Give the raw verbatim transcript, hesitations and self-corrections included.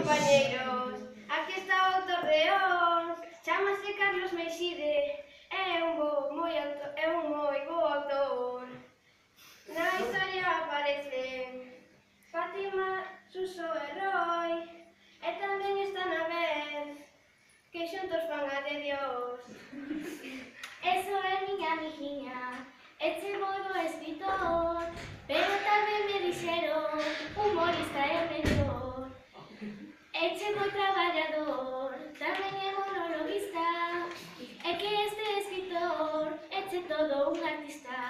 compañeiros, aquí está o autor de Os, chámase Carlos Meixide, é un bo moi autor, é un moi bo autor. Na historia aparecen Fátima, Suso e Roy, e tamén está na vez que xuntos fan a de Dios. Eso é miña amiguiña, eche moi bo escritor, pero tamén me dixeron humorista é mellor. Eche moi traballador, tamén é monologuista, é que este escritor eche todo un artista.